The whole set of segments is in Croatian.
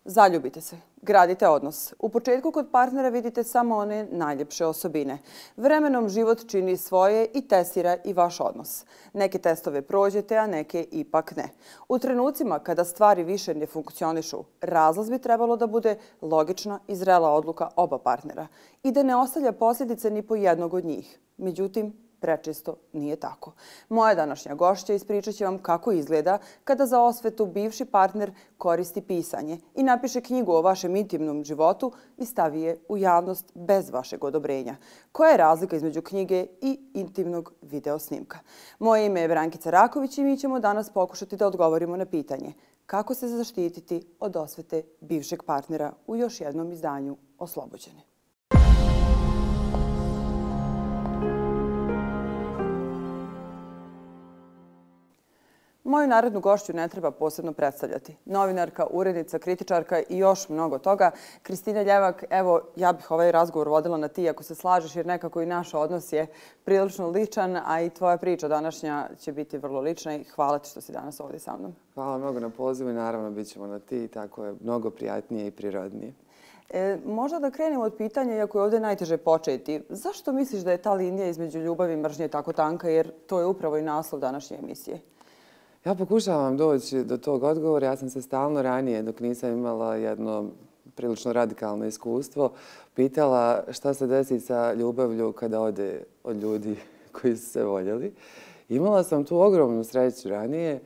Zaljubite se, gradite odnos. U početku kod partnera vidite samo one najljepše osobine. Vremenom život čini svoje i testira i vaš odnos. Neke testove prođete, a neke ipak ne. U trenucima kada stvari više ne funkcionišu, razlaz bi trebalo da bude logična i zrela odluka oba partnera i da ne ostavlja posljedice ni po jednog od njih. Međutim, prečesto nije tako. Moja današnja gošća ispričat će vam kako izgleda kada za osvetu bivši partner koristi pisanje i napiše knjigu o vašem intimnom životu i stavi je u javnost bez vašeg odobrenja. Koja je razlika između knjige i intimnog video snimka? Moje ime je Brankica Raković i mi ćemo danas pokušati da odgovorimo na pitanje kako se zaštititi od osvete bivšeg partnera u još jednom izdanju Oslobođene. Moju narednu gošću ne treba posebno predstavljati. Novinarka, urednica, kritičarka i još mnogo toga. Kristina Ljevak, evo, ja bih ovaj razgovor vodila na ti ako se slažeš, jer nekako i naš odnos je prilično ličan, a i tvoja priča današnja će biti vrlo lična i hvala ti što si danas ovdje sa mnom. Hvala mnogo na pozivu i naravno bit ćemo na ti, tako je mnogo prijatnije i prirodnije. Možda da krenemo od pitanja, iako je ovdje najteže početi. Zašto misliš da je ta linija između ljubavi i mržnje tako tanka, jer to je upravo i naslov današnje emisije? Ja pokušavam doći do tog odgovora. Ja sam se stalno ranije, dok nisam imala jedno prilično radikalno iskustvo, pitala šta se desi sa ljubavlju kada ode od ljudi koji su se voljeli. Imala sam tu ogromnu sreću ranije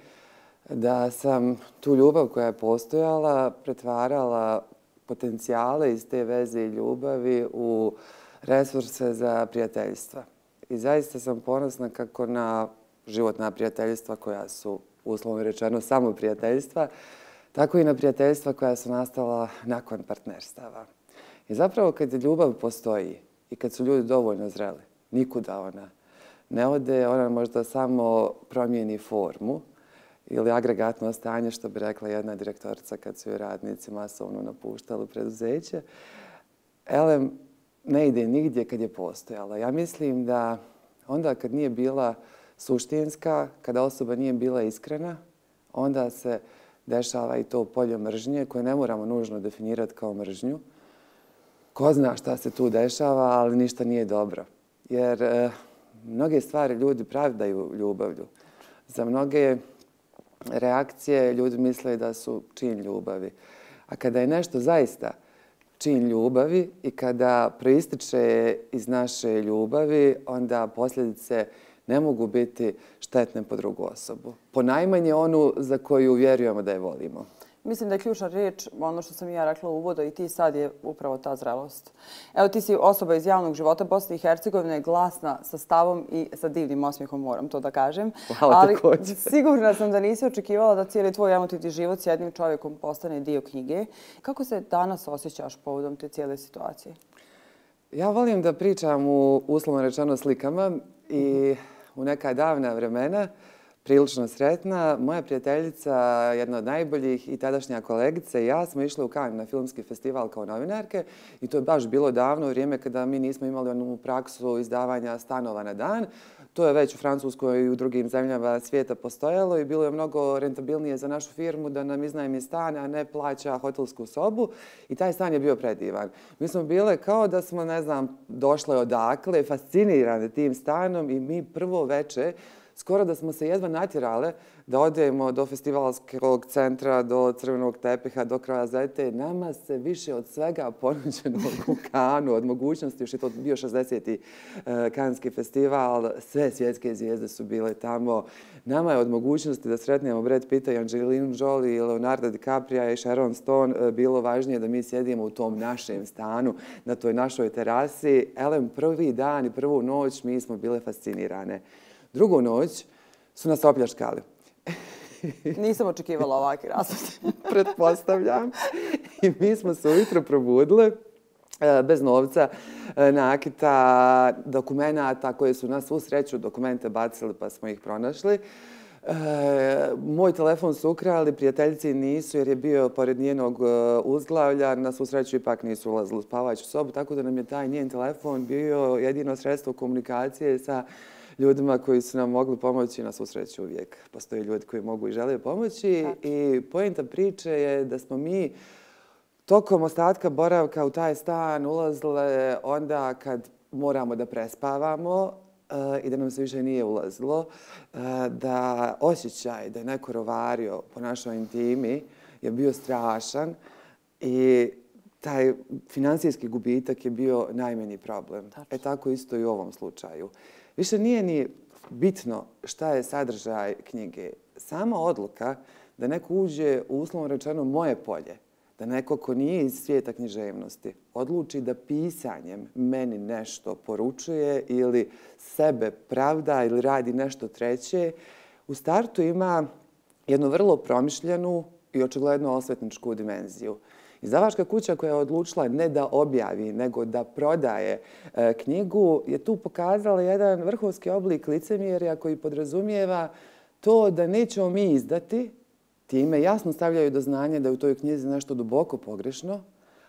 da sam tu ljubav koja je postojala pretvarala potencijale iz te veze i ljubavi u resurse za prijateljstva. I zaista sam ponosna kako na životna prijateljstva koja su uslovno rečeno samo prijateljstva, tako i na prijateljstva koja su nastala nakon partnerstava. I zapravo kad ljubav postoji i kad su ljudi dovoljno zreli, nikuda ona ne ode, ona možda samo promijeni formu ili agregatno stanje, što bi rekla jedna direktorica kad su joj radnici masovno napuštali preduzeće. Elem, ne ide nigdje kad je postojala. Ja mislim da onda kad nije bila suštinska, kada osoba nije bila iskrena, onda se dešava i to polje mržnje koje ne moramo nužno definirati kao mržnju. Ko zna šta se tu dešava, ali ništa nije dobro. Jer mnoge stvari ljudi pravdaju ljubavlju. Za mnoge reakcije ljudi misle da su čin ljubavi. A kada je nešto zaista čin ljubavi i kada proističe iz naše ljubavi, onda posljedice ne mogu biti štetne po drugu osobu. Ponajmanje onu za koju vjerujemo da je volimo. Mislim da je ključna riječ, ono što sam i ja rekla u uvodu i ti sad, je upravo ta zrelost. Evo, ti si osoba iz javnog života Bosne i Hercegovine, glasna, sa stavom i sa divnim osmijehom, moram to da kažem. Hvala također. Ali sigurna sam da nisi očekivala da cijeli tvoj emotivni život s jednim čovjekom postane dio knjige. Kako se danas osjećaš povodom te cijele situacije? Ja volim da pričam u uslovno rečeno slikama i u neka davna vremena, prilično sretna, moja prijateljica, jedna od najboljih i tadašnja kolegica i ja smo išli u Cannes na filmski festival kao novinarke i to je baš bilo davno vrijeme kada mi nismo imali onu praksu izdavanja stanova na dan. To je već u Francuskoj i u drugim zemljama svijeta postojalo i bilo je mnogo rentabilnije za našu firmu da nam iznajmi stan, a ne plaća hotelsku sobu. I taj stan je bio predivan. Mi smo bile kao da smo, ne znam, došle odakle, fascinirane tim stanom i mi prvo veče skoro da smo se jedva natjerale da odemo do festivalskog centra, do crvenog tepiha, do Croisette. Nama se više od svega ponuđenog u Cannesu, od mogućnosti, još je to bio 60. Canneski festival, sve svjetske zvijezde su bile tamo. Nama je od mogućnosti da sretnemo Brad Pitta i Angelinu Jolie i Leonardo DiCaprio i Sharon Stone bilo važnije da mi sjedimo u tom našem stanu, na toj našoj terasi. Elem, prvi dan i prvu noć mi smo bile fascinirane. Drugu noć su nas opljačkali. Nisam očekivala ovakvi razvod. Pretpostavljam. I mi smo se ujutro probudile bez novca, nakita, dokumenata koje su na svu sreću dokumente bacili pa smo ih pronašli. Moj telefon su ukrali, prijateljici nisu jer je bio pored njenog uzglavlja. Na svu sreću ipak nisu ulazili u spavaću sobu, tako da nam je taj njen telefon bio jedino sredstvo komunikacije sa ljudima koji su nam mogli pomoći. Na svu sreću uvijek postoje ljudi koji mogu i žele pomoći. I poenta priče je da smo mi tokom ostatka boravka u taj stan ulazile onda kad moramo da prespavamo i da nam se više nije ulazilo, da osjećaj da je neko rovario po našoj intimi je bio strašan i taj finansijski gubitak je bio najmanji problem. Tako isto i u ovom slučaju. Više nije ni bitno šta je sadržaj knjige. Sama odluka da neko uđe u uslovno rečeno moje polje, da neko ko nije iz svijeta književnosti odluči da pisanjem meni nešto poručuje ili sebe pravda ili radi nešto treće, u startu ima jednu vrlo promišljenu i očigledno osvetničku dimenziju. Izdavačka kuća koja je odlučila ne da objavi, nego da prodaje knjigu, je tu pokazala jedan vrhunski oblik licemjerja koji podrazumijeva to da nećemo mi izdati, time jasno stavljaju do znanja da je u toj knjizi nešto duboko pogrešno,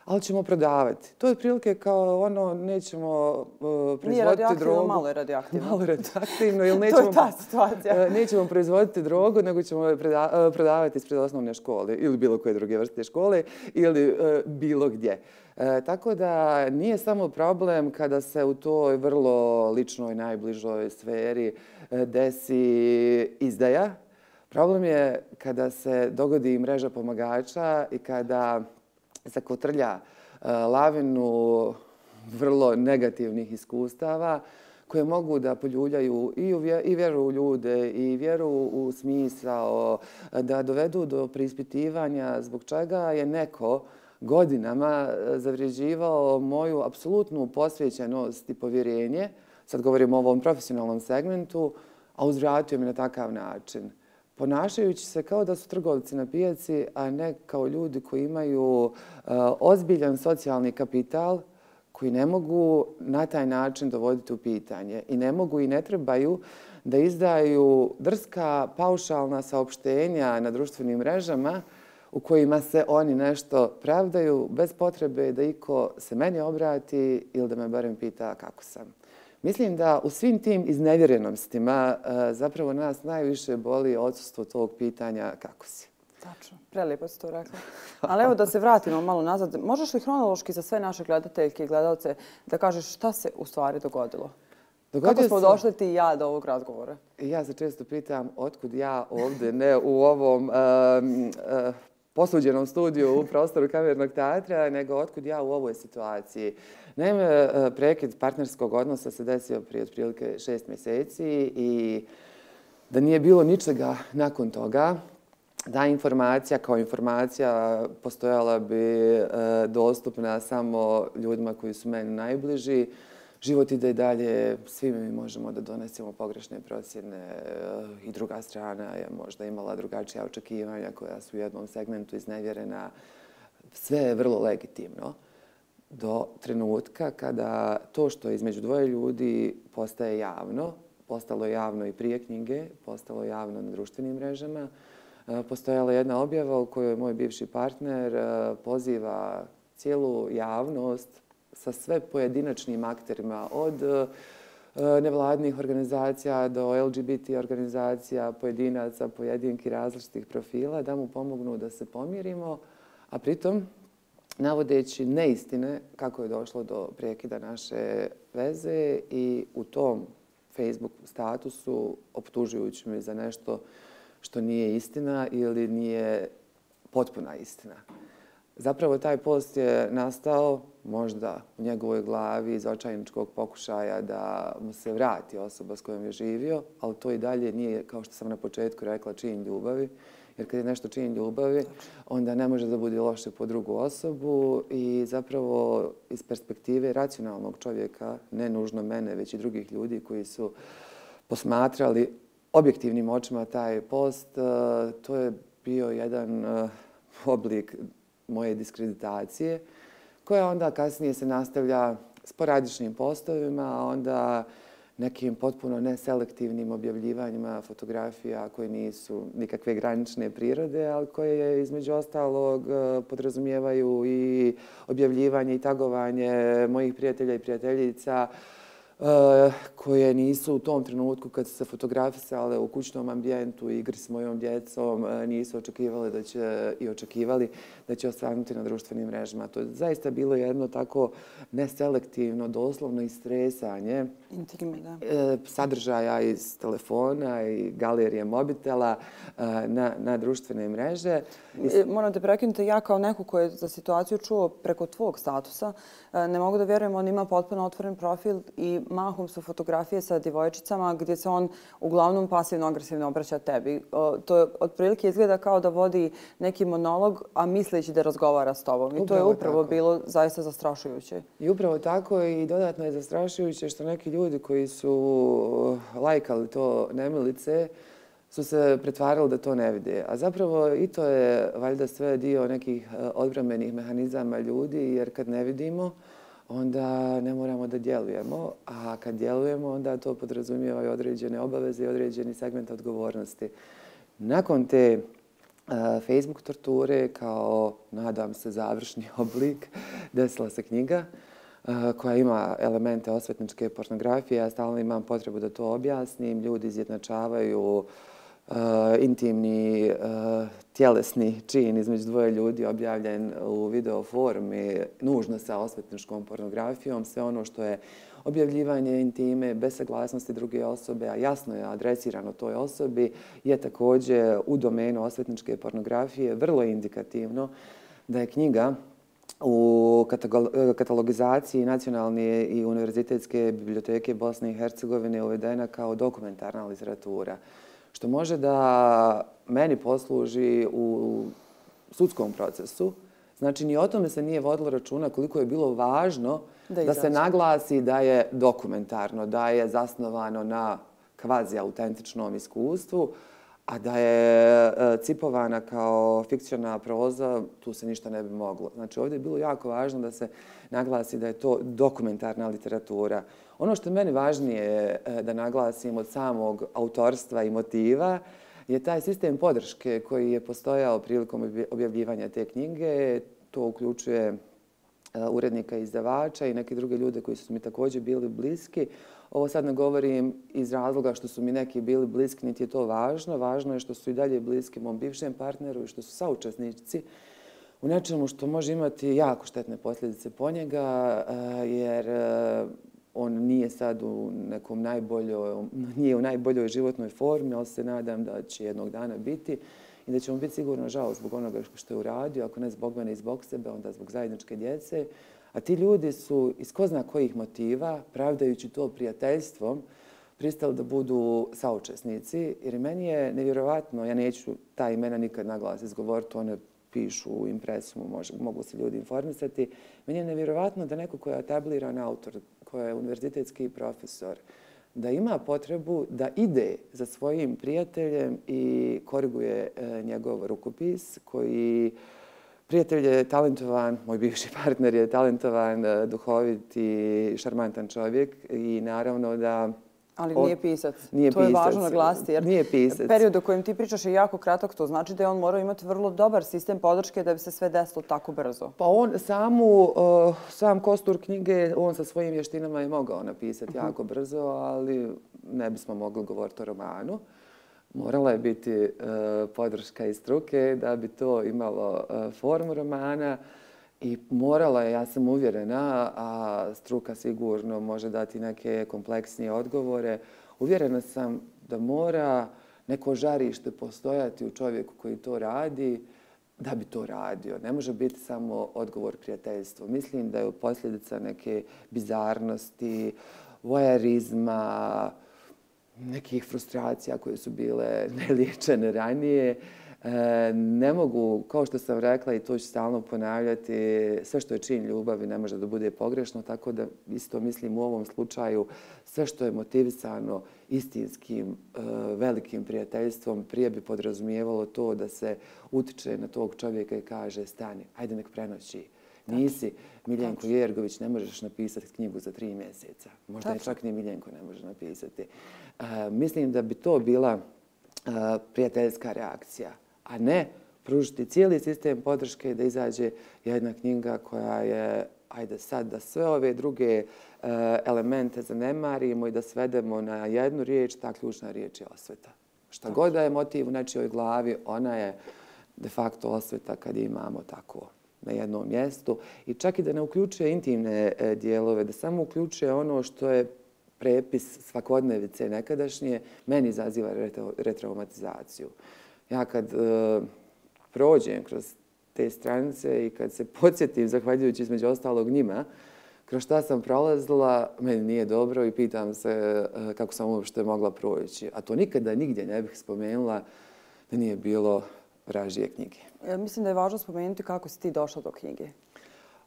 ali ćemo prodavati. To je otprilike kao ono, nećemo proizvoditi drogu. Nije radioaktivno, malo je radioaktivno. Malo radioaktivno, ili To je ta situacija. nećemo proizvoditi drogu, nego ćemo je prodavati ispred osnovne škole ili bilo koje druge vrste škole ili bilo gdje. Tako da nije samo problem kada se u toj vrlo ličnoj, najbližoj sferi desi izdaja. Problem je kada se dogodi mreža pomagača i kada zakotrlja lavinu vrlo negativnih iskustava koje mogu da poljuljaju i vjeru u ljude i vjeru u smisao, da dovedu do preispitivanja zbog čega je neko godinama zavređivao moju apsolutnu posvećenost i povjerenje, sad govorim o ovom profesionalnom segmentu, a uzvratio mi na takav način. Ponašajući se kao da su trgovci na pijaci, a ne kao ljudi koji imaju ozbiljan socijalni kapital, koji ne mogu na taj način dovoditi u pitanje i ne mogu i ne trebaju da izdaju drska paušalna saopštenja na društvenim mrežama u kojima se oni nešto pravdaju bez potrebe da iko se meni obrati ili da me barem pita kako sam. Mislim da u svim tim iznevjerenostima zapravo nas najviše boli odsustvo tog pitanja kako si. Tačno. Prelijepo si to rekla. Ali evo da se vratimo malo nazad. Možeš li hronološki za sve naše gledateljke i gledalce da kažeš šta se u stvari dogodilo? Kako smo došli ti i ja do ovog razgovora? Ja se često pitam otkud ja ovdje, ne u ovom posuđenom studiju u prostoru Kamernog teatra, nego otkud ja u ovoj situaciji. Naime, prekid partnerskog odnosa se desio prije otprilike 6 mjeseci i da nije bilo ničega nakon toga, da informacija kao informacija postojala bi dostupna samo ljudima koji su meni najbliži. Život ide i dalje, svi mi možemo da donesemo pogrešne procjene i druga strana je možda imala drugačija očekivanja koja su u jednom segmentu iznevjerena. Sve je vrlo legitimno do trenutka kada to što je između dvoje ljudi postaje javno, postalo je javno i prije knjige, postalo je javno na društvenim mrežama, postojala jedna objava u kojoj moj bivši partner poziva cijelu javnost sa sve pojedinačnim akterima, od nevladnih organizacija do LGBT organizacija, pojedinaca, pojedinki različitih profila, da mu pomognu da se pomirimo, a pritom navodeći neistine kako je došlo do prekida naše veze i u tom Facebook statusu optužujući me za nešto što nije istina ili nije potpuna istina. Zapravo taj post je nastao možda u njegovoj glavi iz očajničkog pokušaja da mu se vrati osoba s kojom je živio, ali to i dalje nije, kao što sam na početku rekla, čin ljubavi. Jer kad je nešto čin ljubavi, onda ne može da bude loše po drugu osobu i zapravo iz perspektive racionalnog čovjeka, ne nužno mene, već i drugih ljudi koji su posmatrali objektivnim očima taj post, to je bio jedan oblik moje diskreditacije, koja onda kasnije se nastavlja sporadičnim postovima, a onda nekim potpuno neselektivnim objavljivanjima fotografija koje nisu nikakve granične prirode, ali koje između ostalog podrazumijevaju i objavljivanje i tagovanje mojih prijatelja i prijateljica koje nisu u tom trenutku kad su se fotografisale u kućnom ambijentu, igri s mojom djecom, nisu očekivali očekivali da će osvanuti na društvenim mrežama. To je zaista bilo jedno tako neselektivno, doslovno istresanje sadržaja iz telefona i galerije mobitela na društvene mreže. Moram te prekinuti, ja kao neko ko je za situaciju čuo preko tvog statusa, ne mogu da vjerujem, on ima potpuno otvoren profil i mahom su fotografije sa djevojčicama gdje se on uglavnom pasivno-agresivno obraća tebi. To otprilike izgleda kao da vodi neki monolog, a misleći da razgovara s tobom. I to je upravo bilo zaista zastrašujuće. I upravo tako i dodatno je zastrašujuće što neki ljudi koji su lajkali to nemilice su se pretvarali da to ne vide. A zapravo i to je valjda sve dio nekih odbrambenih mehanizama ljudi, jer kad ne vidimo, onda ne moramo da djelujemo, a kad djelujemo, onda to podrazumijeva i određene obaveze i određeni segment odgovornosti. Nakon te Facebook torture, kao, nadam se, završni oblik, desila se knjiga koja ima elemente osvetničke pornografije. Ja stalno imam potrebu da to objasnim. Ljudi izjednačavaju intimni, tjelesni čin između dvoje ljudi objavljen u video formi, nužno sa osvetničkom pornografijom. Sve ono što je objavljivanje intime bez saglasnosti druge osobe, a jasno je adresirano toj osobi, je također u domenu osvetničke pornografije. Vrlo indikativno da je knjiga u katalogizaciji Nacionalne i univerzitetske biblioteke Bosne i Hercegovine uvedena kao dokumentarna literatura, što može da meni posluži u sudskom procesu. Znači, ni o tome se nije vodilo računa koliko je bilo važno da se naglasi da je dokumentarno, da je zasnovano na kvazi-autentičnom iskustvu, a da je cipovana kao fikciona proza, tu se ništa ne bi moglo. Znači, ovdje je bilo jako važno da se naglasi da je to dokumentarna literatura. Ono što je meni važnije da naglasim od samog autorstva i motiva je taj sistem podrške koji je postojao prilikom objavljivanja te knjige. To uključuje urednika i izdavača i neke druge ljude koji su mi također bili bliski. Ovo sad ne govorim iz razloga što su mi neki bili bliski, niti je to važno. Važno je što su i dalje bliski mom bivšem partneru i što su saučesnici u nečemu što može imati jako štetne posljedice po njega, jer on nije sad nije u najboljoj životnoj formi, ali se nadam da će jednog dana biti i da će mu biti sigurno žao zbog onoga što je uradio, ako ne zbog mene i zbog sebe, onda zbog zajedničke djece. A ti ljudi su iz ko zna kojih motiva, pravdajući to prijateljstvom, pristali da budu saučesnici, jer meni je nevjerovatno, ja neću ta imena nikad na glas izgovoriti, one pišu u impresumu, mogu se ljudi informisati. Meni je nevjerovatno da neko ko je etabliran autor, ko je univerzitetski profesor, da ima potrebu da ide za svojim prijateljem i koriguje njegov rukopis koji prijatelj je talentovan, moj bivši partner je talentovan, duhovit i šarmantan čovjek i naravno da... Ali nije pisac. To je važno naglasiti, jer period o kojem ti pričaš je jako kratak. To znači da je on morao imati vrlo dobar sistem podrške da bi se sve desilo tako brzo. Pa on sam kostur knjige, on sa svojim vještinama je mogao napisati jako brzo, ali ne bismo mogli govoriti o romanu. Morala je biti podrška iz struke da bi to imalo formu romana i morala je, ja sam uvjerena, a struka sigurno može dati neke kompleksnije odgovore, uvjerena sam da mora neko žarište postojati u čovjeku koji to radi da bi to radio. Ne može biti samo odgovor prijateljstvo. Mislim da je posljedica neke bizarnosti, voajerizma, nekih frustracija koje su bile neliječene ranije. Ne mogu, kao što sam rekla i to ću stalno ponavljati, sve što je čin ljubavi ne može da bude pogrešno, tako da isto mislim u ovom slučaju sve što je motivisano istinskim velikim prijateljstvom prije bi podrazumijevalo to da se utiče na tog čovjeka i kaže stani, ajde nek prenoći. Nisi Miljenko Jergović, ne možeš napisati knjigu za 3 mjeseca. Možda je čak ni Miljenko ne može napisati. Mislim da bi to bila prijateljska reakcija, a ne pružiti cijeli sistem podrške da izađe jedna knjiga koja je ajde sad da sve ove druge elemente zanemarimo i da svedemo na jednu riječ, ta ključna riječ je osveta. Šta god da je motiv u nečijoj glavi, ona je de facto osveta kad je imamo tako na jednom mjestu. I čak i da ne uključuje intimne dijelove, da samo uključuje ono što je prepis svakodnevice nekadašnje, meni izaziva retraumatizaciju. Ja kad prođem kroz te stranice i kad se podsjetim, zahvaljujući između ostalog njima, kroz šta sam prolazila, meni nije dobro i pitam se kako sam uopšte mogla proći. A to nikada nigdje ne bih spomenula da nije bilo vražije knjige. Mislim da je važno spomenuti kako si ti došla do knjige.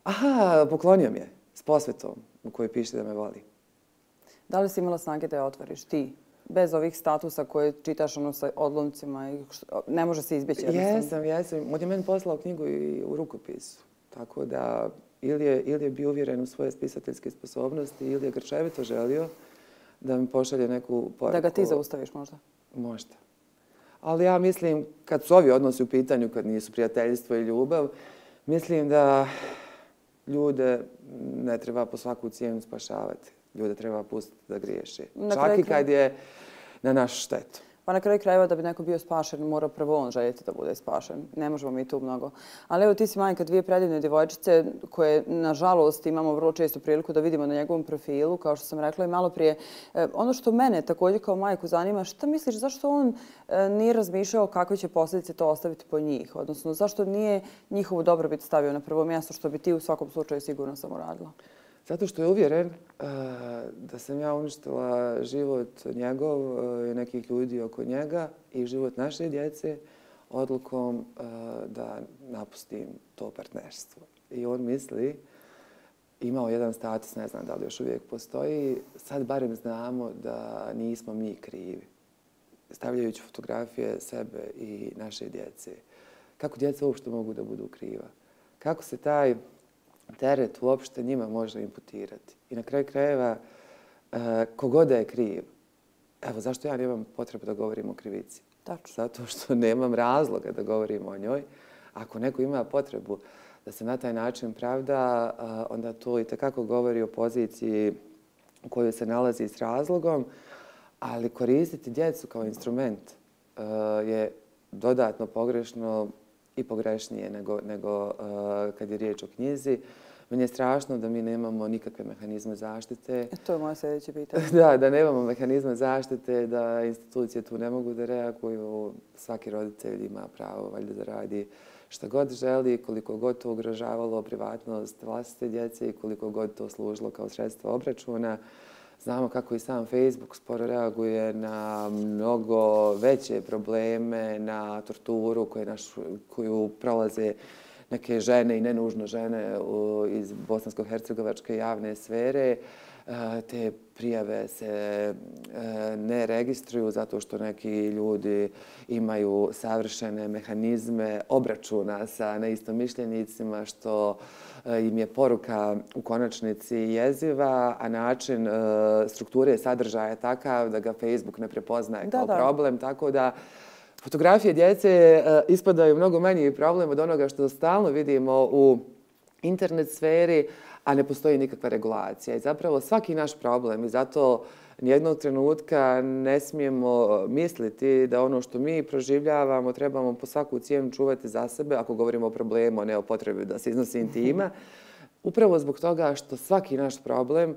Aha, poklonio mi je s posvetom u kojoj piše da me voli. Da li si imala snage da je otvoriš ti? Bez ovih statusa koje čitaš sa odlomcima i ne može se izbjeći. Jesam. On je meni poslao knjigu i u rukopisu. Tako da ili je bio uvjeren u svoje spisateljske sposobnosti ili je grčevito želio da mi pošalje neku poruku. Da ga ti zaustaviš možda? Možda. Ali ja mislim, kad su ovi odnosi u pitanju, kad nisu prijateljstvo i ljubav, mislim da ljude ne treba po svaku cijenu spašavati. Ljude treba pustiti da griješi. Čak i kad je na našu štetu. Pa na kraju krajeva da bi neko bio spašen, mora prvo on željeti da bude spašen. Ne možemo mi tu mnogo. Ali evo ti si majka dvije predivne djevojčice koje, nažalost, imamo vrlo često priliku da vidimo na njegovom profilu, kao što sam rekla i malo prije. Ono što mene također kao majku zanima, šta misliš zašto on nije razmišljao kakve će posljedice to ostaviti po njih? Odnosno, zašto nije njihovu dobrobit stavio na prvo mjesto, što bi ti u svakom slučaju sigurno sam uradila? Zato što je uvjeren da sam ja uništila život njegov i nekih ljudi oko njega i život naše djece odlukom da napustim to partnerstvo. I on misli, imao jedan status, ne znam da li još uvijek postoji, sad barem znamo da nismo mi krivi. Stavljajući fotografije sebe i naše djece. Kako djeca uopšte mogu da budu kriva? Kako se taj teret uopšte njima može imputirati? I na kraju krajeva, kogod da je kriv, evo zašto ja nemam potrebu da govorim o krivici? Tačno. Zato što nemam razloga da govorim o njoj. Ako neko ima potrebu da se na taj način pravda, onda to i tekako govori o poziciji u kojoj se nalazi s razlogom, ali koristiti djecu kao instrument je dodatno pogrešno i pogrešnije nego kad je riječ o knjizi. Meni je strašno da mi nemamo nikakve mehanizme zaštite. To je moje sljedeće pitanje. Da nemamo mehanizme zaštite, da institucije tu ne mogu da reaguju. Svaki roditelj ima pravo valjda da radi šta god želi, koliko god to ugrožavalo privatnost vlastite djece i koliko god to služilo kao sredstvo obračuna. Znamo kako i sam Facebook sporo reaguje na mnogo veće probleme, na torturu koju prolaze neke žene i nenužno žene iz bosansko-hercegovačke javne sfere. Te prijave se ne registruju zato što neki ljudi imaju savršene mehanizme obračuna sa neistomišljenicima, što im je poruka u konačnici jeziva, a način strukture sadržaja je takav da ga Facebook ne prepoznaje kao problem. Tako da fotografije djece ispadaju mnogo manji problem od onoga što stalno vidimo u internet sferi, a ne postoji nikakva regulacija. I zapravo svaki naš problem, i zato nijednog trenutka ne smijemo misliti da ono što mi proživljavamo trebamo po svaku cijenu čuvati za sebe, ako govorimo o problemu, a ne o potrebi da se iznosi intima. Upravo zbog toga što svaki naš problem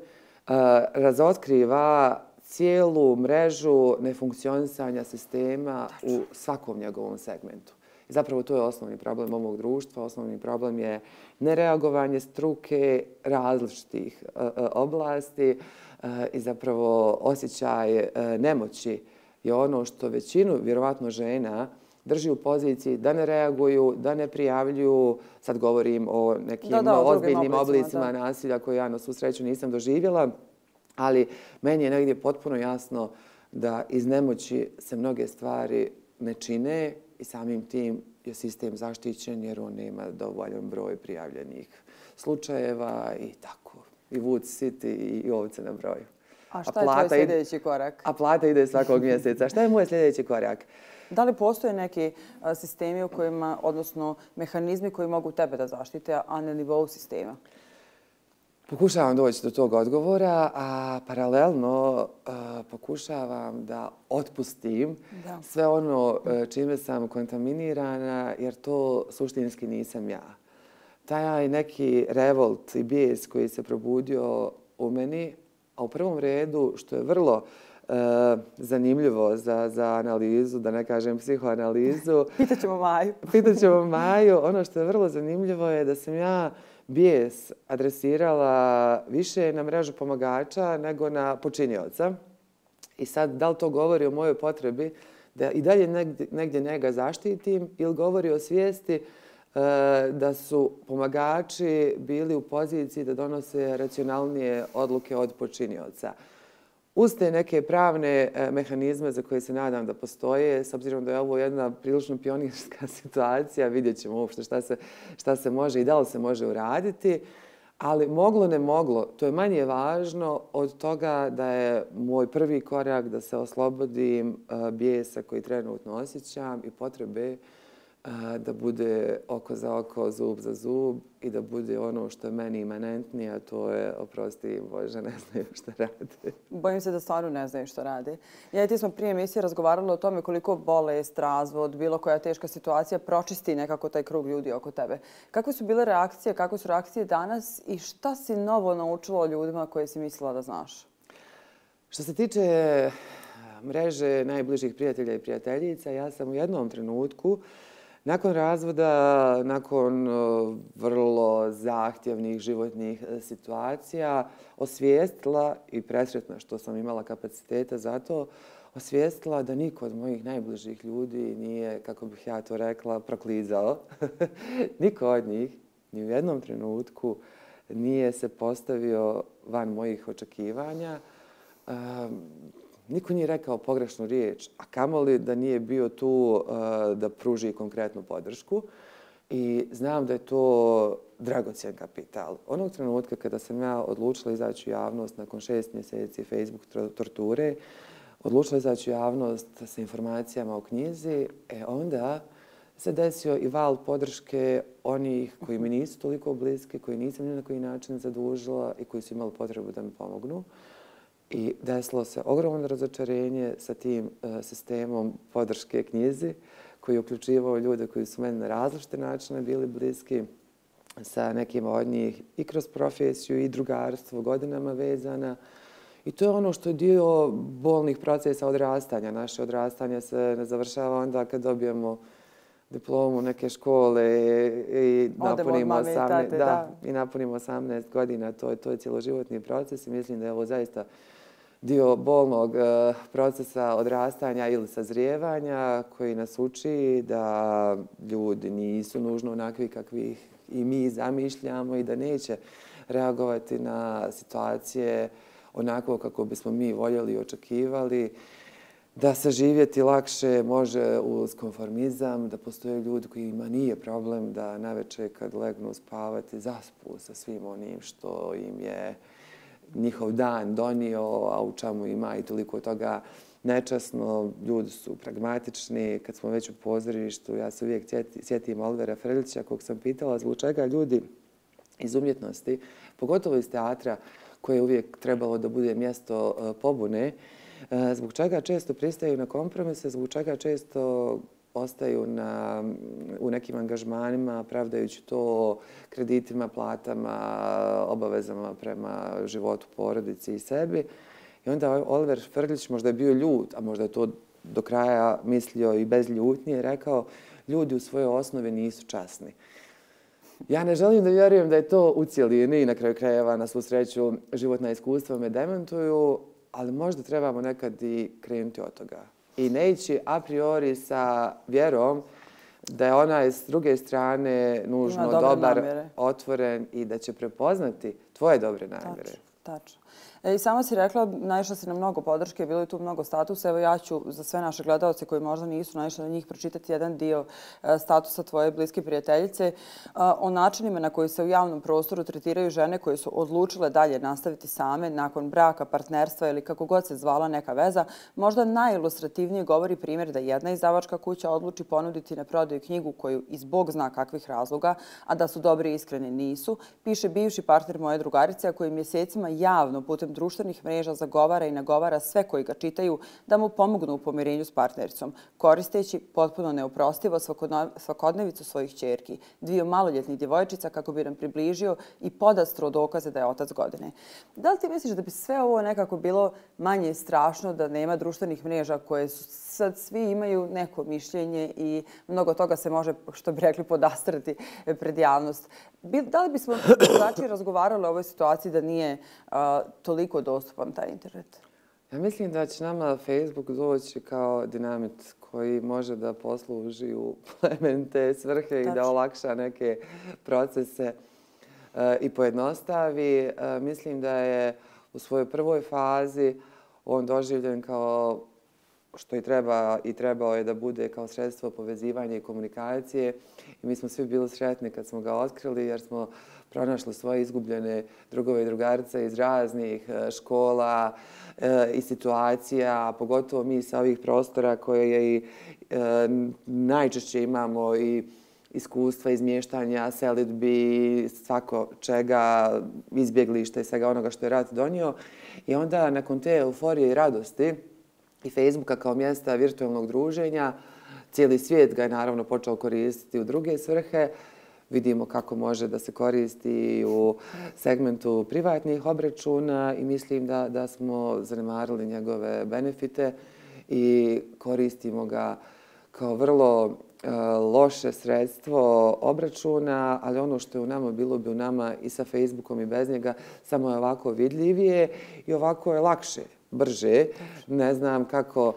razotkriva cijelu mrežu nefunkcionisanja sistema u svakom njegovom segmentu. I zapravo to je osnovni problem ovog društva. Osnovni problem je nereagovanje struke različitih oblasti i zapravo osjećaj nemoći je ono što većinu, vjerovatno žena, drži u poziciji da ne reaguju, da ne prijavljuju. Sad govorim o nekim ozbiljnim oblicima nasilja koje ja na svu sreću nisam doživjela, ali meni je negdje potpuno jasno da iz nemoći se mnoge stvari ne čine i samim tim je sistem zaštićen jer on nema dovoljan broj prijavljenih slučajeva i tako. I vuci siti i ovce na broju. A šta je tvoj sljedeći korak? A plata ide svakog mjeseca. Šta je moj sljedeći korak? Da li postoje neki sistemi u kojima, odnosno mehanizmi koji mogu tebe da zaštite, a na nivou sistema? Pokušavam doći do tog odgovora, a paralelno pokušavam da otpustim sve ono čime sam kontaminirana, jer to suštinski nisam ja. Taj neki revolt i bijes koji se probudio u meni, a u prvom redu, što je vrlo zanimljivo za analizu, da ne kažem psihoanalizu. Pitaćemo Maju. Ono što je vrlo zanimljivo je da sam ja bijes adresirala više na mrežu pomagača nego na počinioca. I sad, da li to govori o mojoj potrebi da i dalje negdje njega zaštitim ili govori o svijesti da su pomagači bili u poziciji da donose racionalnije odluke od počinioca. Uz te neke pravne mehanizme za koje se nadam da postoje, s obzirom da je ovo jedna prilično pionirska situacija, vidjet ćemo uopšte šta se može i da li se može uraditi, ali moglo ne moglo, to je manje važno od toga da je moj prvi korak da se oslobodim bijesa koji trenutno osjećam i potrebe da bude oko za oko, zub za zub i da bude ono što je meni imanentnije, a to je, oprosti Bože, ne znaju što rade. Bojim se da stvarno ne znaju što rade. Ja i ti smo prije emisije razgovarali o tome koliko bolest, razvod, bilo koja teška situacija pročisti nekako taj krug ljudi oko tebe. Kakve su bile reakcije, kakve su reakcije danas i šta si novo naučila o ljudima koje si mislila da znaš? Što se tiče mreže najbližih prijatelja i prijateljica, ja sam u jednom trenutku nakon razvoda, nakon vrlo zahtjevnih životnih situacija, osvijestila i presretna što sam imala kapaciteta za to, osvijestila da niko od mojih najbližih ljudi nije, kako bih ja to rekla, proklizao. Niko od njih ni u jednom trenutku nije se postavio van mojih očekivanja. Niko nije rekao pogrešnu riječ, a kamoli da nije bio tu da pruži konkretnu podršku. I znam da je to dragocjen kapital. Onog trenutka kada sam ja odlučila izaći u javnost nakon 6 mjeseci Facebook torture, odlučila izaći u javnost sa informacijama o knjizi, onda se desio i val podrške onih koji mi nisu toliko bliski, koji nisam ni na koji način zadužila i koji su imali potrebu da mi pomognu. I desilo se ogromno razočarenje sa tim sistemom podrške knjizi koji je uključivao ljude koji su meni na različite načine bili bliski, sa nekima od njih i kroz profesiju i drugarstvo godinama vezana. I to je ono što je dio bolnih procesa odrastanja. Naše odrastanje se ne završava onda kad dobijemo diplomu neke škole i napunimo 18 godina. To je cjeloživotni proces i mislim da je ovo zaista dio bolnog procesa odrastanja ili sazrijevanja koji nas uči da ljudi nisu nužno onakvi kakvih i mi zamišljamo i da neće reagovati na situacije onako kako bismo mi voljeli i očekivali, da se živjeti lakše može uz konformizam, da postoje ljudi kojima nije problem da navečer kad legnu spavati zaspu sa svim onim što im je njihov dan donio, a u čemu ima i toliko toga nečasno. Ljudi su pragmatični. Kad smo već u pozorištu, ja se uvijek sjetim Olivera Frljića, kog sam pitala zbog čega ljudi iz umjetnosti, pogotovo iz teatra, koje je uvijek trebalo da bude mjesto pobune, zbog čega često pristaju na kompromise, zbog čega često ostaju u nekim angažmanima, pravdajući to kreditima, platama, obavezama prema životu, porodici i sebi. I onda Oliver Frljić, možda je bio ljut, a možda je to do kraja mislio i bez ljutnje, rekao ljudi u svojoj osnovi nisu časni. Ja ne želim da vjerujem da je to u cijelini i na kraju krajeva, na svu sreću, životna iskustva me demantuju, ali možda trebamo nekad i krenuti od toga. I ne ići a priori sa vjerom da je onaj s druge strane nužno dobar, otvoren i da će prepoznati tvoje dobre namjere. Tačno. I sama si rekla, naišla si na mnogo podrške, bilo je tu mnogo statusa. Evo ja ću za sve naše gledalce koji možda nisu naišli na njih pročitati jedan dio statusa tvoje bliske prijateljice o načinima na koji se u javnom prostoru tretiraju žene koje su odlučile dalje nastaviti same nakon braka, partnerstva ili kako god se zvala neka veza. Možda najilustrativnije govori primjer da jedna izdavačka kuća odluči ponuditi na prodaju knjigu koju iz Bog zna kakvih razloga, a da su dobri i iskreni nisu, piše bivši partner moje drugarice, a koji mjesecima javno putem društvenih mreža zagovara i nagovara sve koji ga čitaju da mu pomognu u pomirenju s partnericom, koristeći potpuno neoprostivo svakodnevicu svojih ćerki, dviju maloljetnih djevojčica kako bi nam približio i podastro dokaze da je otac godine. Da li ti misliš da bi sve ovo nekako bilo manje strašno da nema društvenih mreža koje sad svi imaju neko mišljenje i mnogo toga se može, što bi rekli, podastrati pred javnost? Da li bismo drugačije razgovarali o ovoj situaciji da nije toliko dostupan taj internet? Ja mislim da će nama Facebook doći kao dinamit koji može da posluži u plemenite svrhe i da olakša neke procese i pojednostavi. Mislim da je u svojoj prvoj fazi on doživljen kao što i trebao je da bude kao sredstvo povezivanja i komunikacije. I mi smo svi bili sretni kad smo ga otkrili jer smo pronašli svoje izgubljene drugove i drugarice iz raznih škola i situacija, pogotovo mi sa ovih prostora koje najčešće imamo i iskustva izmještanja, selidbi, svako čega, izbjeglišta i svega onoga što je rat donio. I onda nakon te euforije i radosti i Facebooka kao mjesta virtualnog druženja, cijeli svijet ga je naravno počeo koristiti u druge svrhe. Vidimo kako može da se koristi u segmentu privatnih obračuna i mislim da smo zanemarili njegove benefite i koristimo ga kao vrlo loše sredstvo obračuna, ali ono što je u nama bilo bi u nama i sa Facebookom i bez njega, samo je ovako vidljivije i ovako je lakše, brže. Ne znam kako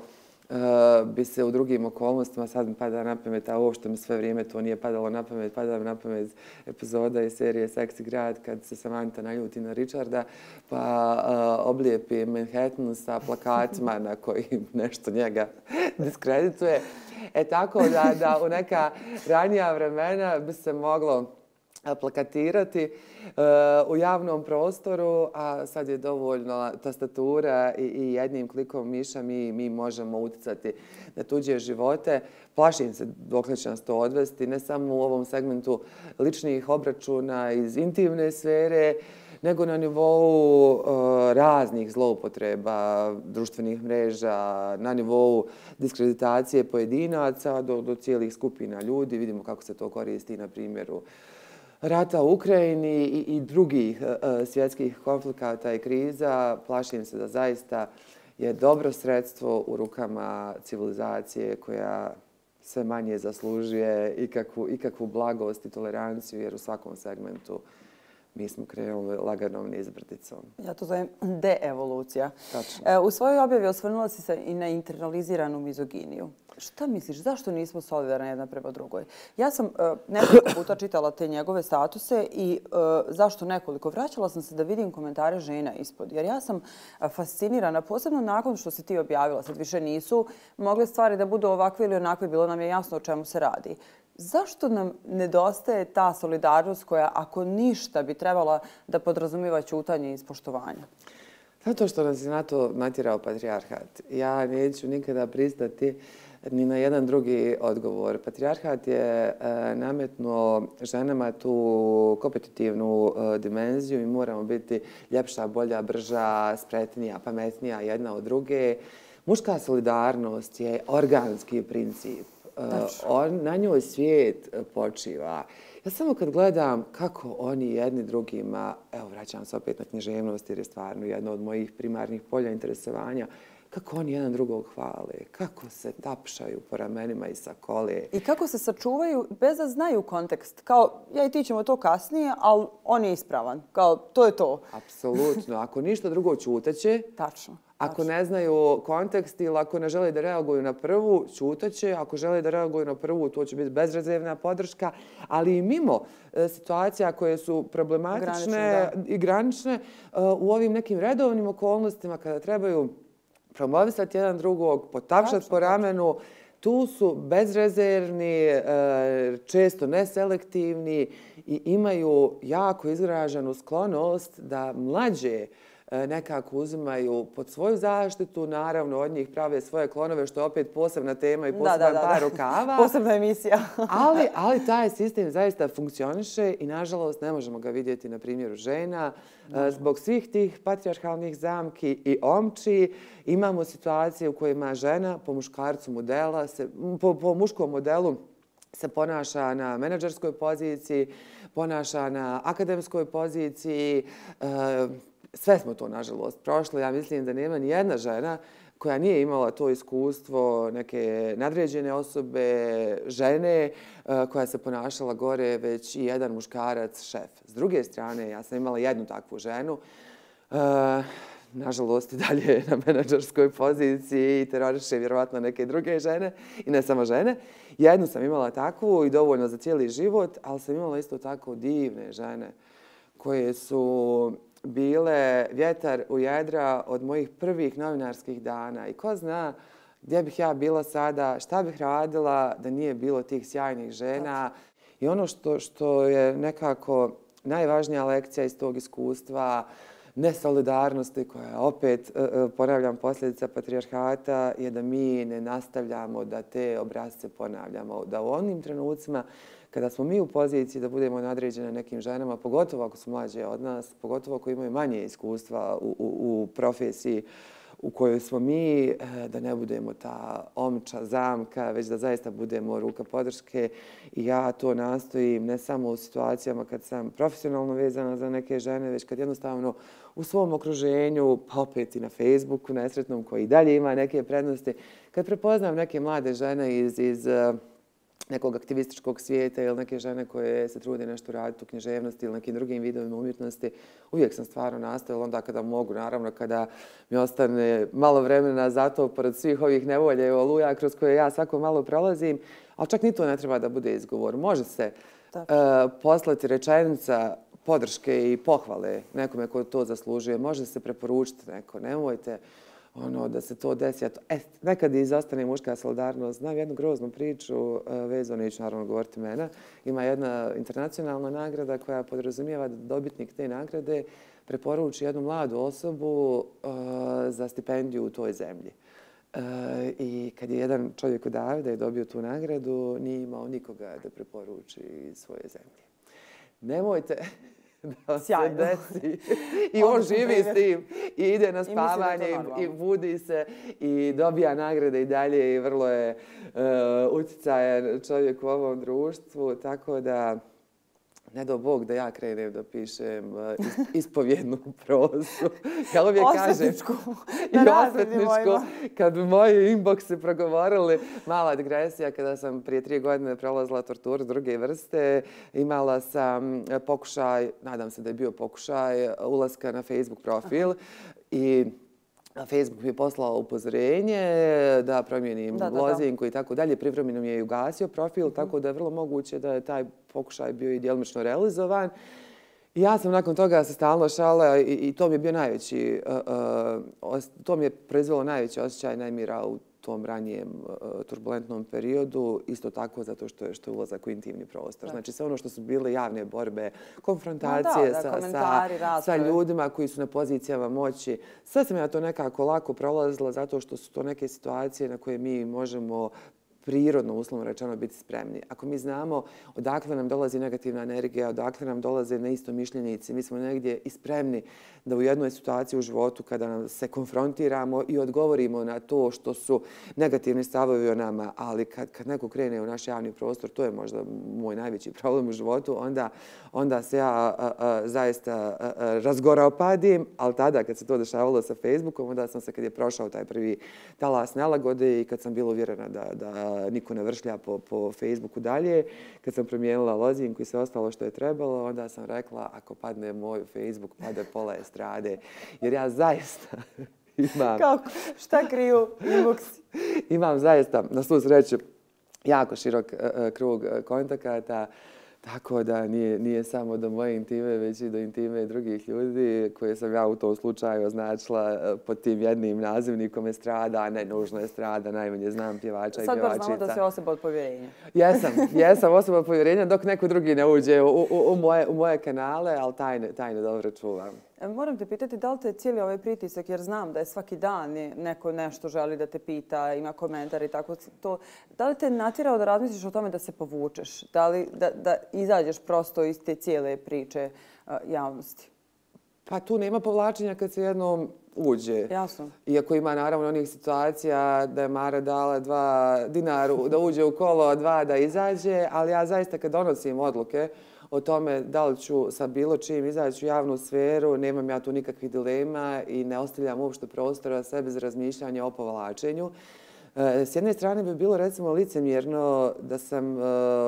bi se u drugim okolnostima, sad mi pada na pamet, a uopšte mi sve vrijeme to nije padalo na pamet, pada mi na pamet epizoda iz serije Seksi grad kad se Samantha naljuti na Richarda pa oblijepi Manhattan sa plakatima na kojim nešto njega diskredituje. Tako da u neka ranija vremena bi se moglo plakatirati u javnom prostoru, a sad je dovoljno tastatura i jednim klikom miša mi možemo utjecati na tuđe živote. Plašim se dokle će nas to odvesti, ne samo u ovom segmentu ličnih obračuna iz intimne sfere, nego na nivou raznih zloupotreba društvenih mreža, na nivou diskreditacije pojedinaca do cijelih skupina ljudi. Vidimo kako se to koristi na primjeru rata u Ukrajini i drugih svjetskih konflikata i kriza. Plašim se da zaista je dobro sredstvo u rukama civilizacije koja sve manje zaslužuje ikakvu blagost i toleranciju, jer u svakom segmentu mi smo krenuli laganom nizbrdicom. Ja to zovem deevolucija. Tačno. U svojoj objavi osvrnula si se i na internaliziranu mizoginiju. Šta misliš, zašto nismo solidarni jedna prema drugoj? Ja sam nekoliko puta čitala te njegove statuse i zašto nekoliko? Vraćala sam se da vidim komentare žena ispod. Jer ja sam fascinirana, posebno nakon što si ti objavila. Sad više nisu mogle stvari da budu ovakve ili onakve. Bilo nam je jasno o čemu se radi. Zašto nam nedostaje ta solidarnost koja, ako ništa, bi trebala da podrazumiva ćutanje i ispoštovanje? Zato što nas je na to natjerao patrijarhat. Ja neću nikada pristati ni na jedan drugi odgovor. Patrijarhat je nametnuo ženama tu kompetitivnu dimenziju i moramo biti ljepša, bolja, brža, spretnija, pametnija jedna od druge. Muška solidarnost je organski princip. Na njoj svijet počiva. Ja samo kad gledam kako oni jedni drugima, evo vraćam se opet na književnost jer je stvarno jedno od mojih primarnih polja interesovanja, kako oni jedan drugog hvale, kako se tapšaju po ramenima i sakole. I kako se sačuvaju bez da znaju kontekst. Kao, ja i ti ćemo to kasnije, ali on je ispravan. Kao, to je to. Apsolutno. Ako ništa drugo, ćutaće. Tačno. Ako ne znaju kontekst ili ako ne žele da reaguju na prvu, ćutaće. Ako žele da reaguju na prvu, to će biti bezrezervna podrška. Ali i mimo situacija koje su problematične i granične, u ovim nekim redovnim okolnostima kada trebaju promovisati jedan drugog, potapšati po ramenu, tu su bezrezervni, često neselektivni i imaju jako izraženu sklonost da mlađe nekako uzimaju pod svoju zaštitu, naravno od njih prave svoje klonove, što je opet posebna tema i poseban par rukava. Posebna emisija. ali taj sistem zaista funkcioniše i nažalost ne možemo ga vidjeti na primjeru žena. Zbog svih tih patrijarhalnih zamki i omči imamo situacije u kojima žena po muškarcu modela, po muškom modelu se ponaša na menadžerskoj poziciji, ponaša na akademskoj poziciji. Sve smo to, nažalost, prošli. Ja mislim da nema ni jedna žena koja nije imala to iskustvo neke nadređene osobe, žene koja se ponašala gore, već i jedan muškarac, šef. S druge strane, ja sam imala jednu takvu ženu, nažalost i dalje na menadžerskoj poziciji i teroriše vjerovatno neke druge žene i ne samo žene. Jednu sam imala takvu i dovoljno za cijeli život, ali sam imala isto tako divne žene koje su bile vjetar u jedra od mojih prvih novinarskih dana. I ko zna gdje bih ja bila sada, šta bih radila da nije bilo tih sjajnih žena. I ono što je nekako najvažnija lekcija iz tog iskustva, nesolidarnosti koja je opet, ponavljam, posljedica patrijarhata, je da mi ne nastavljamo da te obrazce ponavljamo. Da u onim trenucima kada smo mi u poziciji da budemo nadređene nekim ženama, pogotovo ako su mlađe od nas, pogotovo ako imaju manje iskustva u profesiji u kojoj smo mi, da ne budemo ta omča, zamka, već da zaista budemo ruka podrške. I ja to nastojim ne samo u situacijama kad sam profesionalno vezana za neke žene, već kad jednostavno u svom okruženju, pa opet i na Facebooku nesretnom koji i dalje ima neke prednosti, kad prepoznam neke mlade žene iz nekog aktivističkog svijeta ili neke žene koje se trude nešto raditi u književnosti ili nekim drugim vidovima umjetnosti, uvijek sam stvarno nastojala onda kada mogu, naravno kada mi ostane malo vremena za to pored svih ovih nevolja i oluja kroz koje ja svako malo prolazim, ali čak ni to ne treba da bude izgovor. Može se poslati rečenica podrške i pohvale nekome ko to zaslužuje, može se preporučiti neko, nemojte da se to desi. Nekad izostane muška solidarnost. Znam jednu groznu priču, vezano, neću naravno govoriti mene. Ima jedna internacionalna nagrada koja podrazumijeva da dobitnik te nagrade preporuči jednu mladu osobu za stipendiju u toj zemlji. I kad je jedan čovjek od Davida je dobio tu nagradu, nije imao nikoga da preporuči iz svoje zemlje. Nemojte da se desi. I on živi s tim i ide na spavanje i budi se i dobija nagrade i dalje i vrlo je utjecajan čovjek u ovom društvu. Tako da ne do Bog da ja krenem da pišem ispovjednu prozu. Ja uvijek kažem, i osvetničku, kad bi moji inboxi progovorili, mala digresija, kada sam prije 3 godine prolazila torturu druge vrste, imala sam pokušaj, nadam se da je bio pokušaj, ulaska na Facebook profil i Facebook mi je poslao upozorenje da promijenim lozinku i tako dalje. Privremeno mi je i ugasio profil, tako da je vrlo moguće da je taj pokušaj bio i djelomično realizovan. I ja sam nakon toga se stalno šala i to mi je bio najveći, to mi je proizvelo najveći osjećaj nemira u tom ranijem turbulentnom periodu, isto tako zato što je ulazak u intimni prostor. Znači sve ono što su bile javne borbe, konfrontacije sa ljudima koji su na pozicijama moći, sve sam ja to nekako lako prolazila zato što su to neke situacije na koje mi možemo prirodno, uslovno rečeno, biti spremni. Ako mi znamo odakle nam dolazi negativna energija, odakle nam dolaze neistomišljenici, mi smo negdje i spremni da u jednoj situaciji u životu kada nam se konfrontiramo i odgovorimo na to što su negativni stavovi o nama, ali kad neko krene u naš javni prostor, to je možda moj najveći problem u životu, onda se ja zaista razgoraopadim, ali tada kad se to dešavalo sa Facebookom, onda sam se, kad je prošao taj prvi talas nelagode i kad sam bila uvjerena da niko ne vršlja po Facebooku dalje, kad sam promijenila lozinku i sve ostalo što je trebalo, onda sam rekla, ako padne moj Facebook, pade pola estrade. Jer ja zaista imam... Kako? Šta kriju inboxi? Imam zaista, na svu sreću, jako širok krug kontakata, tako da nije samo do moje intime, već i do intime drugih ljudi koje sam ja u tom slučaju označila pod tim jednim nazivnikom estrada, a ne nužno estrada, najmanje znam pjevača i pjevačica. Sad baš znamo da si osoba od povjerenja. Jesam osoba od povjerenja dok neko drugi ne uđe u moje kanale, ali tajne dobro čuvam. Moram te pitati da li te cijeli ovaj pritisak, jer znam da je svaki dan neko nešto želi da te pita, ima komentar i tako to. Da li te natjerao da razmisliš o tome da se povučeš? Da li da izađeš prosto iz te cijele priče javnosti? Pa tu nema povlačenja kad se jednom uđe. Jasno. Iako ima naravno onih situacija da je Mara dala 2 dinaru da uđe u kolo, 2 da izađe, ali ja zaista kad donosim odluke o tome da li ću sa bilo čim izaći u javnu sferu, nemam ja tu nikakvih dilema i ne ostavljam uopšte prostora sebe za razmišljanje o povlačenju. S jedne strane bi bilo recimo licemjerno da sam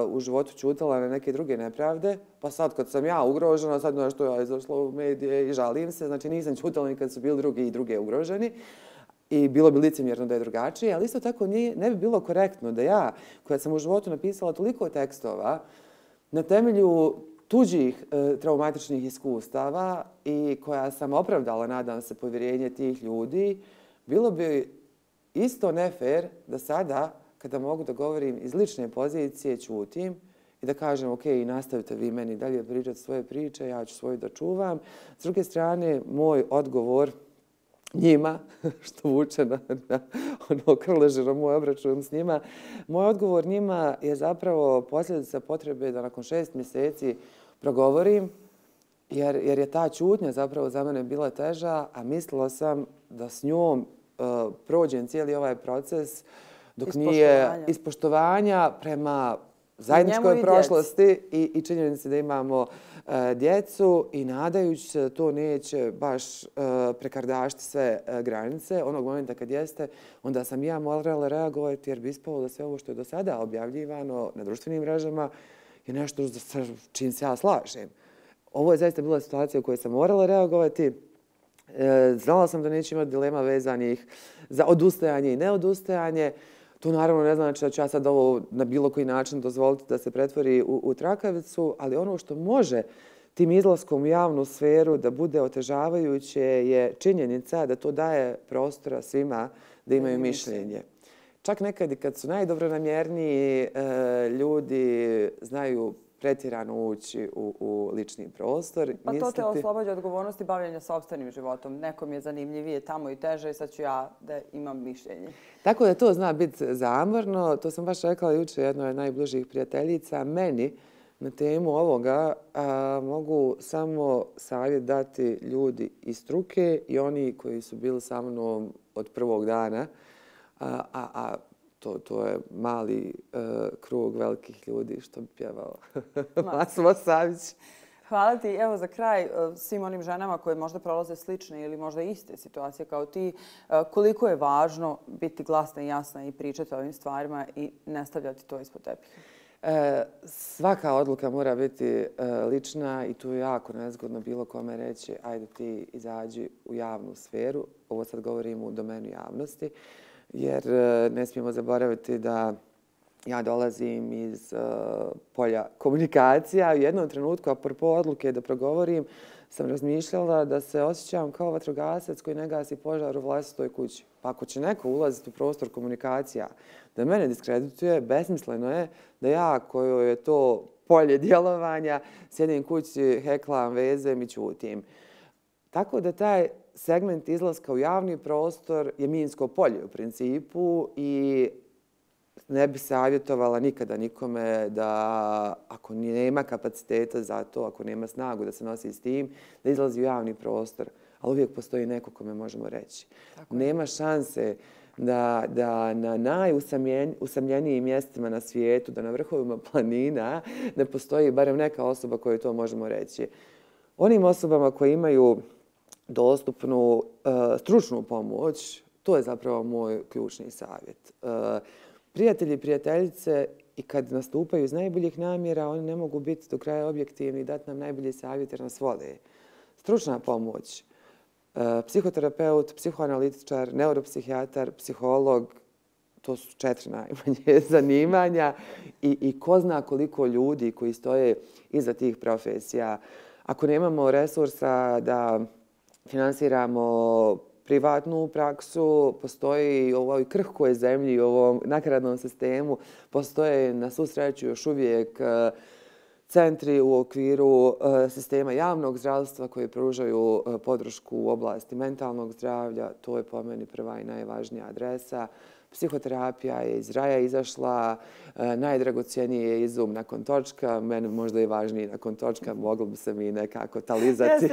u životu ćutala na neke druge nepravde, pa sad kad sam ja ugrožena, sad nešto ja izašla u medije i žalim se, znači nisam ćutala ni kad su bili drugi i druge ugroženi. I bilo bi licemjerno da je drugačije, ali isto tako ne bi bilo korektno da ja, koja sam u životu napisala toliko tekstova, na temelju tuđih traumatičnih iskustava i koja sam opravdala, nadam se, povjerenje tih ljudi, bilo bi isto nefer da sada, kada mogu da govorim iz lične pozicije, ćutim i da kažem, ok, nastavite vi meni dalje pričati svoje priče, ja ću svoju da čuvam. S druge strane, moj odgovor njima, što vuče na ono krležero moj obračun s njima, moj odgovor njima je zapravo posljedica potrebe da nakon 6 mjeseci progovorim, jer je ta ćutnja zapravo za mene bila teža, a mislila sam da s njom prođem cijeli ovaj proces dok nije ispoštovanja prema zajedničkoj prošlosti i činjenici da imamo djecu i nadajući se da to neće baš prekardašiti sve granice. Onog momenta kad jeste, onda sam ja morala reagovati jer bi ispalo da sve ovo što je do sada objavljivano na društvenim mrežama je nešto sa čim se ja slažem. Ovo je zaista bila situacija u kojoj sam morala reagovati. Znala sam da neće imati dilema vezanih za odustajanje i neodustajanje. To naravno ne znači da ću ja sad ovo na bilo koji način dozvoliti da se pretvori u trakavicu, ali ono što može tim izlaskom u javnu sferu da bude otežavajuće je činjenica da to daje prostora svima da imaju mišljenje. Čak nekad i kad su najdobronamjerniji ljudi znaju pretjerano ući u lični prostor. Pa to te oslobađa odgovornosti bavljenja sopstvenim životom. Nekom je zanimljivije tamo i teže i sad ću ja da imam mišljenje. Tako da to zna biti zamorno. To sam baš rekla jučer jednoj od najbližih prijateljica. Meni na temu ovoga mogu samo savjet dati ljudi iz struke i oni koji su bili sa mnom od prvog dana. To je mali krug velikih ljudi, što bi pjevao Massimo Savić. Hvala ti. Evo za kraj svim onim ženama koje možda prolaze slične ili možda iste situacije kao ti, koliko je važno biti glasna i jasna i pričati o ovim stvarima i ne stavljati to ispod tepiha? Svaka odluka mora biti lična i tu je jako nezgodno bilo kome reći ajde ti izađi u javnu sferu. Ovo sad govorim u domenu javnosti. Jer ne smijemo zaboraviti da ja dolazim iz polja komunikacija. U jednom trenutku, apropo odluke da progovorim, sam razmišljala da se osjećam kao vatrogasac koji ne gasi požar u vlastitoj kući. Pa ako će neko ulaziti u prostor komunikacija da mene diskredituje, besmisleno je da ja, kojoj je to polje djelovanja, sjedim kući, heklam, vezem i ćutim. Tako da taj segment izlaska u javni prostor je minsko polje u principu i ne bi savjetovala nikada nikome da ako nema kapaciteta za to, ako nema snagu da se nosi s tim, da izlazi u javni prostor. Ali uvijek postoji neko kome možemo reći. Nema šanse da na najusamljenijim mjestima na svijetu, da na vrhovima planina ne postoji barem neka osoba kojoj to možemo reći. Onim osobama koji imaju dostupnu stručnu pomoć, to je zapravo moj ključni savjet. Prijatelji i prijateljice i kad nastupaju iz najboljih namjera, oni ne mogu biti do kraja objektivni i dati nam najbolji savjet jer nas vole. Stručna pomoć, psihoterapeut, psihoanalitičar, neuropsihijatar, psiholog, to su 4 najmanje zanimanja i ko zna koliko ljudi koji stoje iza tih profesija. Ako nemamo resursa da finansiramo privatnu praksu, postoji u ovoj krhkoj zemlji, u ovom nakaradnom sistemu, postoje na svu sreću još uvijek centri u okviru sistema javnog zdravstva koji pružaju podršku u oblasti mentalnog zdravlja. To je po meni prva i najvažnija adresa. Psihoterapija je iz raja izašla, najdragocjeniji je izum nakon točka, meni možda i važniji nakon točka, moglo bi se mi nekako talizati.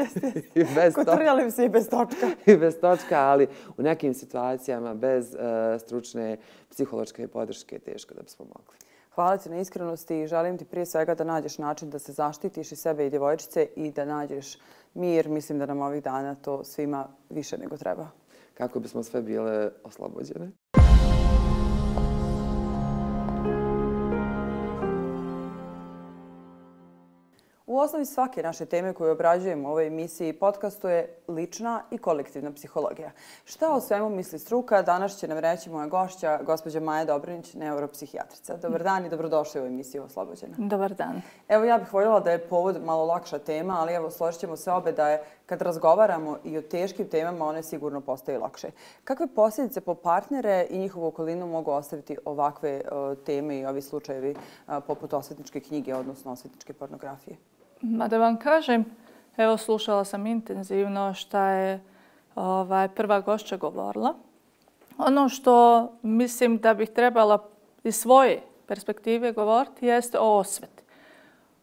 Kotrljali bi se i bez točka. I bez točka, ali u nekim situacijama bez stručne psihološke podrške teško da bismo mogli. Hvala ti na iskrenosti i želim ti prije svega da nađeš način da se zaštitiš i sebe i djevojčice i da nađeš mir. Mislim da nam ovih dana to svima više nego treba. Kako bismo sve bile oslobođene. U osnovi svake naše teme koju obrađujemo u ovoj emisiji i podcastu je lična i kolektivna psihologija. Šta o svemu misli struka? Danas će nam reći moja gošća, gospođa Maja Dobranić, neuropsihijatrica. Dobar dan i dobrodošli u emisiju Oslobođena. Dobar dan. Evo, ja bih voljela da je povod malo lakša tema, ali evo, složit ćemo se obe da je kad razgovaramo i o teškim temama, one sigurno postaju lakše. Kakve posljedice po partnere i njihovu okolinu mogu ostaviti ovakve teme i ovi slučajevi poput osvetničke knjige, odnosno osvetničke pornografije? Ma da vam kažem, evo slušala sam intenzivno šta je prva gošća govorila. Ono što mislim da bih trebala iz svoje perspektive govoriti jeste o osveti.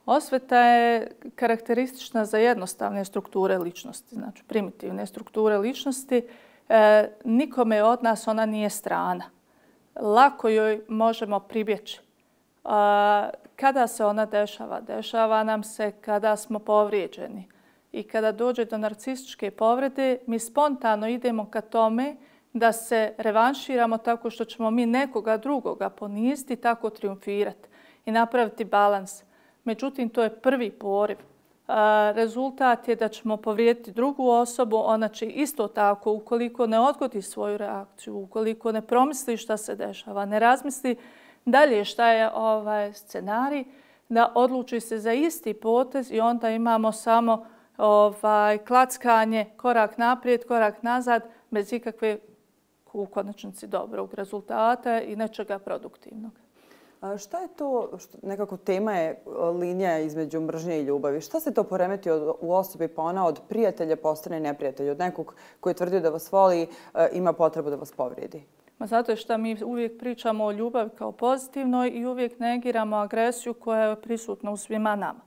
Osveta je karakteristična za jednostavne strukture ličnosti, znači primitivne strukture ličnosti. Nikome od nas ona nije strana. Lako joj možemo pribjeći. Kada se ona dešava? Dešava nam se kada smo povrijeđeni. I kada dođe do narcističke povrede, mi spontano idemo ka tome da se revanširamo tako što ćemo mi nekoga drugoga poniziti, tako triumfirati i napraviti balans. Međutim, to je prvi poriv. Rezultat je da ćemo povrijediti drugu osobu. Ona će isto tako, ukoliko ne odgodi svoju reakciju, ukoliko ne promisli šta se dešava, ne razmisli dalje šta je scenarij, da odluči se za isti potez i onda imamo samo klackanje, korak naprijed, korak nazad, bez ikakve u konačnici dobrog rezultata i nečega produktivnog. Šta je to, nekako tema je linija između mržnje i ljubavi? Šta se to poremeti u osobi pa ona od prijatelja postane neprijatelj? Od nekog koji je tvrdio da vas voli ima potrebu da vas povrijedi? Zato što mi uvijek pričamo o ljubavi kao pozitivnoj i uvijek negiramo agresiju koja je prisutna u svima nama.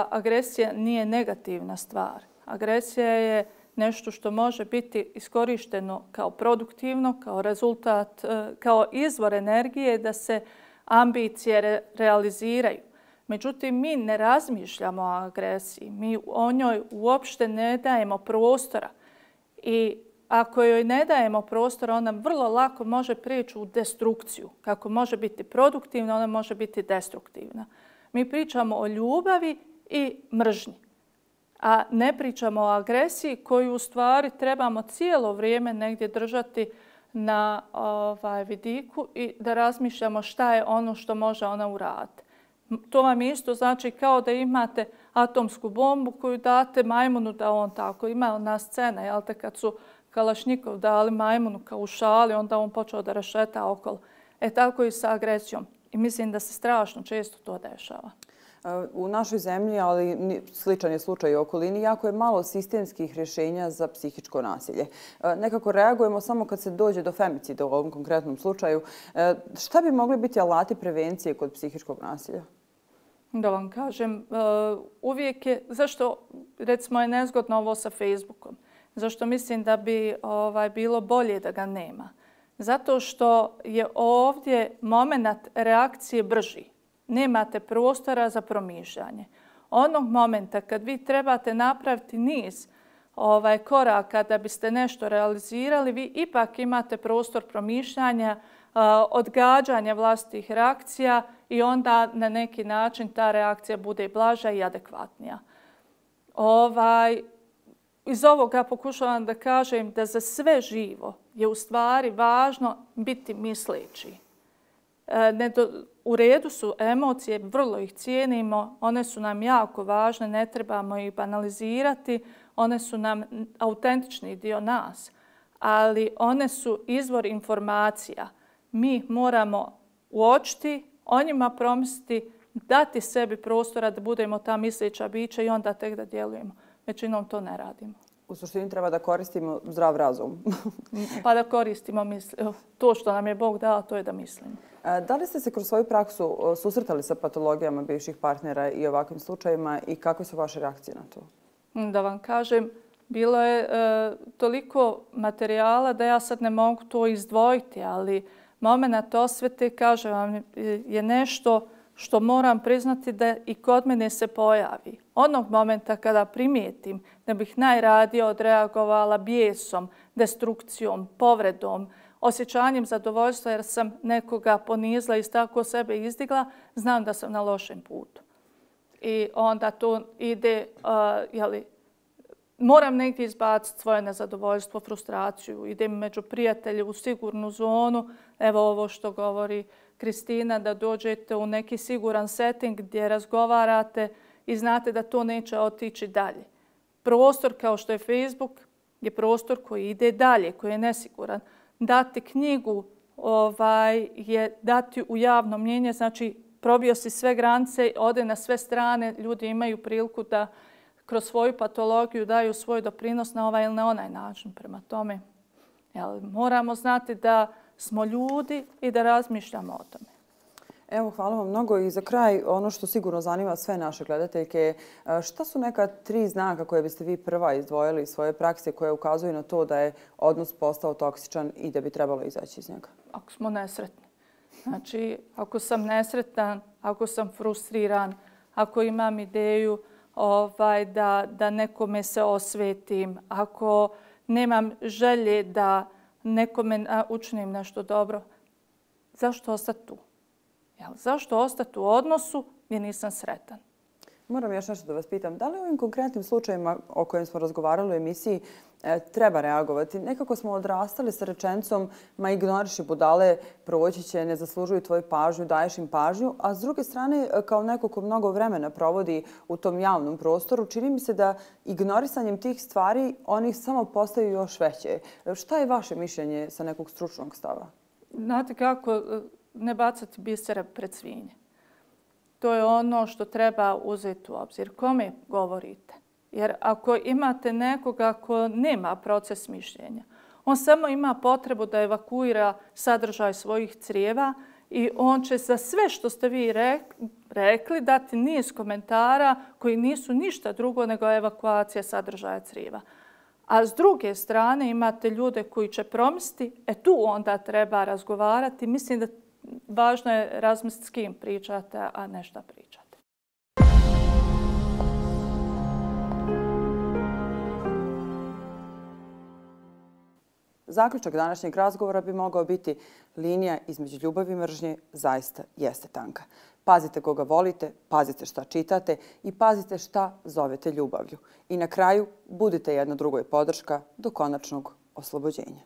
Agresija nije negativna stvar. Agresija je nešto što može biti iskorišteno kao produktivno, kao rezultat, kao izvor energije da se ambicije realiziraju. Međutim, mi ne razmišljamo o agresiji. Mi o njoj uopšte ne dajemo prostora. I ako joj ne dajemo prostora, ona vrlo lako može prijeći u destrukciju. Kako može biti produktivna, ona može biti destruktivna. Mi pričamo o ljubavi i mržnji, a ne pričamo o agresiji koju u stvari trebamo cijelo vrijeme negdje držati na vidiku i da razmišljamo šta je ono što može ona uraditi. To vam isto znači kao da imate atomsku bombu koju date majmunu da on tako. Ima ona scena, jel te, kad su Kalašnjikov dali majmunu kao u šali, onda on počeo da rešeta okolo. Tako i sa agresijom. I mislim da se strašno često to dešava. U našoj zemlji, ali sličan je slučaj u okolini, jako je malo sistemskih rješenja za psihičko nasilje. Nekako reagujemo samo kad se dođe do femicida u ovom konkretnom slučaju. Šta bi mogli biti alati prevencije kod psihičkog nasilja? Da vam kažem, uvijek je, zašto recimo je nezgodno ovo sa Facebookom? Zašto mislim da bi bilo bolje da ga nema? Zato što je ovdje moment reakcije brži. Nemate prostora za promišljanje. Onog momenta kad vi trebate napraviti niz koraka da biste nešto realizirali, vi ipak imate prostor promišljanja, odgađanja vlastitih reakcija i onda na neki način ta reakcija bude blaža i adekvatnija. Iz ovoga pokušavam da kažem da za sve živo je u stvari važno biti misleći. U redu su emocije, vrlo ih cijenimo, one su nam jako važne, ne trebamo ih banalizirati, one su nam autentični dio nas, ali one su izvor informacija. Mi moramo uočiti, o njima promisliti, dati sebi prostora da budemo ta misleća bića i onda tek da djelujemo. Većinom to ne radimo. U suštini treba da koristimo zdrav razum. Pa da koristimo to što nam je Bog dao, to je da mislimo. Da li ste se kroz svoju praksu susretali sa patologijama bivših partnera i ovakvim slučajima i kakve su vaše reakcije na to? Da vam kažem, bilo je toliko materijala da ja sad ne mogu to izdvojiti, ali moment osvete, kažem vam, je nešto što moram priznati da i kod mene se pojavi. Onog momenta kada primijetim da bih najradije odreagovala bijesom, destrukcijom, povredom, osjećanjem zadovoljstva jer sam nekoga ponizila i tako sebe izdigla, znam da sam na lošem putu. I onda to ide, moram negdje izbaciti svoje nezadovoljstvo, frustraciju. Idem među prijatelje u sigurnu zonu. Evo ovo što govori Kristina, da dođete u neki siguran setting gdje razgovarate i znate da to neće otići dalje. Prostor kao što je Facebook je prostor koji ide dalje, koji je nesiguran. Dati knjigu je dati u javno mnjenje, znači probio si sve granice, ode na sve strane, ljudi imaju priliku da kroz svoju patologiju daju svoj doprinos na ovaj ili na onaj način. Prema tome, moramo znati da smo ljudi i da razmišljamo o tome. Evo, hvala vam mnogo. I za kraj, ono što sigurno zanima sve naše gledateljke, šta su neka 3 znaka koje biste vi prva izdvojili iz svoje prakse koje ukazuju na to da je odnos postao toksičan i da bi trebalo izaći iz njega? Ako smo nesretni. Znači, ako sam nesretan, ako sam frustriran, ako imam ideju da nekome se osvetim, ako nemam želje da nekome učinim nešto dobro, zašto ostati tu? Zašto ostati u odnosu gdje nisam sretan? Moram još nešto da vas pitam. Da li u ovim konkretnim slučajima o kojim smo razgovarali u emisiji treba reagovati? Nekako smo odrastali sa rečenicom ma ignoriši budale, proći će, ne zaslužuju tvoju pažnju, daješ im pažnju, a s druge strane, kao neko ko mnogo vremena provodi u tom javnom prostoru, čini mi se da ignorisanjem tih stvari oni samo postaju još veće. Šta je vaše mišljenje sa nekog stručnog stava? Znate kako, ne bacati bisera pred svinje. To je ono što treba uzeti u obzir. Kome govorite? Jer ako imate nekoga ko nema proces mišljenja, on samo ima potrebu da evakuira sadržaj svojih crijeva i on će za sve što ste vi rekli dati niz komentara koji nisu ništa drugo nego evakuacija sadržaja crijeva. A s druge strane imate ljude koji će promisliti, tu onda treba razgovarati. Mislim da važno je razmisliti s kim pričate, a ne šta pričate. Zaključak današnjeg razgovora bi mogao biti linija između ljubavi i mržnje zaista jeste tanka. Pazite koga volite, pazite šta čitate i pazite šta zovete ljubavlju. I na kraju budite jedna drugoj podrška do konačnog oslobođenja.